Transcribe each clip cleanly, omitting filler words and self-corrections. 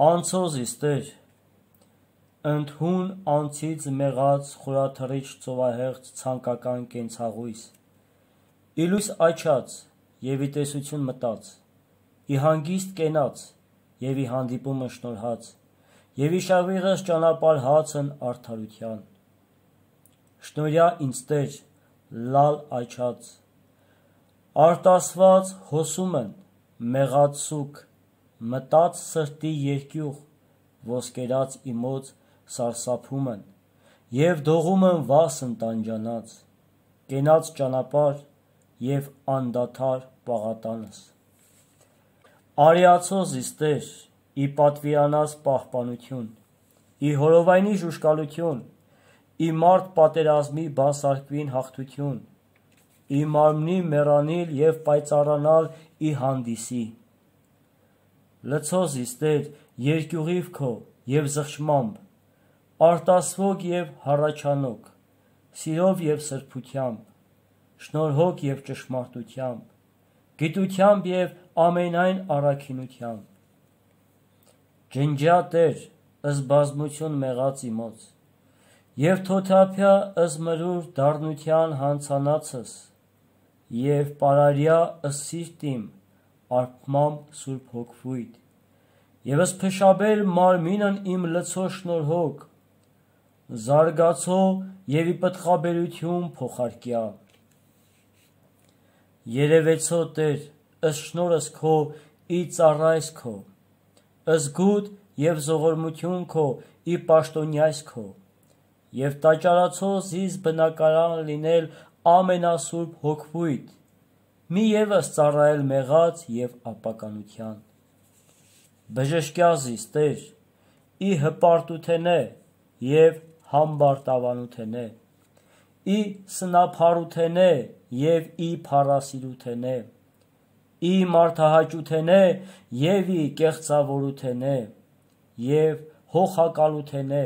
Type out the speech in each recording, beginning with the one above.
Անցոզիս Տեր, ընդհուն անցից մեղած խորաթռիչ ծովահեղձ ցանկական կենցաղույս, ի լույս աչած և ի տեսություն մտած, ի հանգիստ կենաց և ի հանդիպումը շնորհած, և ի շավիղս ճանապարհ հացն արդարության, շնորհյա ինձ Տեր, լալ աչած, արտասված հոսումն մեղած սուգ, մտած սրտի երկյուղ, ոսկերած իմոց սարսափումն, և դողումն վասն տանջանած, կենաց ճանապարհ և անդադար պաղատանս, արիացոզիս Տեր, ի պատվիրանաս պահպանություն, ի հորովայնի ժուժկալություն, ի մարդ պատերազմի բանսարկվին հաղթություն, ի մարմնի մեռանիլ և պայծառանալ ի հանդիսի, լցոզիս Տեր, երկյուղիվ քո և զղջմամբ, արտասվոգ և հառաչանոք, սիրով և սրբությամբ, շնորհով և ճշմարտությամբ, գիտությամբ և ամենայն առաքինությամբ, ջնջյա Տեր, ըս բազմություն մեղած իմոց, և թոթափյա ըս մրուր դառնության հանցանացս, և պարարյա ըս սիրտիմ արբմամբ սուրբ հոգվույթ, և ըս փշաբեր մարմինն իմ լցո շնորհոք, զարգացո և ի պտղաբերություն փոխարկյա, երևեցո Տեր, ըս շնորհս քո ի ծառայս քո, ըս գութ և զողորմություն քո ի պաշտոնյայս քո, և տաճարացո զիս բնակարան լինել ամենասուրբ հոգվույթ, մի ևս ծառայել մեղած և ապականության, բժշկյա զիս Տեր, ի հպարտութենե և համբարտավանութենե, ի սնափառութենե և ի փառասիրութենե, ի մարդահաճութենե և ի կեղծավորութենե և հոխակալութենե,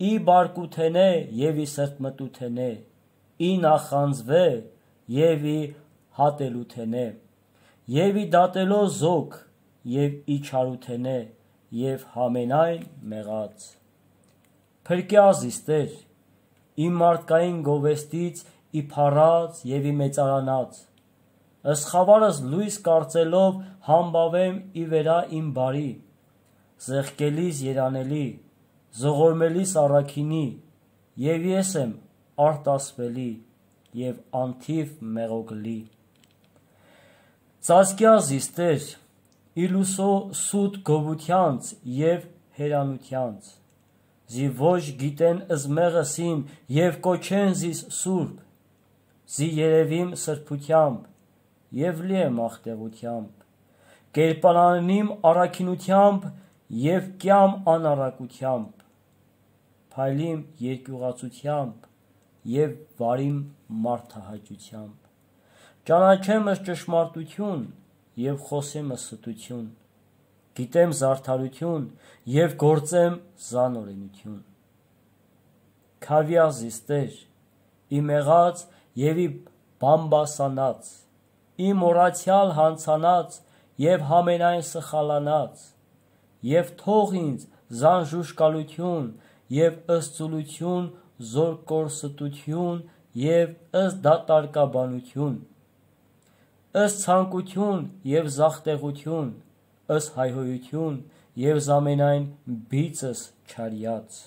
ի բարկութենե և ի սրտմտութենե, ի նախանձվե և ի հատելութենե, և ի դատելո զոք և ի չարութենե և համենայն մեղած, փրկյա զիս Տեր, իմ մարդկային գովեստից ի փառած և ի մեծարանած, ըս խավարս լույս կարծելով համբավեմ ի վերա իմ բարի, զեղկելիս երանելի, զողորմելիս առաքինի, և ես եմ արտասվելի և անթիվ մեղոգլի, ծածկյա զիս Տեր, ի լուսո սուտ գովությանց և հերանությանց, զի ոչ գիտեն ըզմեղս իմ և կոչեն զիս սուրբ, զի երևիմ սրբությամբ և լի եմ աղտեղությամբ, կերպարանիմ առաքինությամբ և կյամ անառակությամբ, փայլիմ երկյուղածությամբ և վարիմ մարդահաճությամբ, ճանաչեմս ճշմարտություն և խոսեմս ստություն, գիտեմ զարդարություն և գործեմ զանօրենություն, քավյա զիս Տեր, ի մեղած և ի բամբասանած, ի մոռացյալ հանցանած և համենայն սխալանած, և թող ինձ զան ժուժկալություն և ըս ծուլություն զորկորստություն և ըս դատարկաբանություն, ըս ցանկություն և զախտեղություն, ըս հայհոյություն և զամենայն բիծս չարյաց,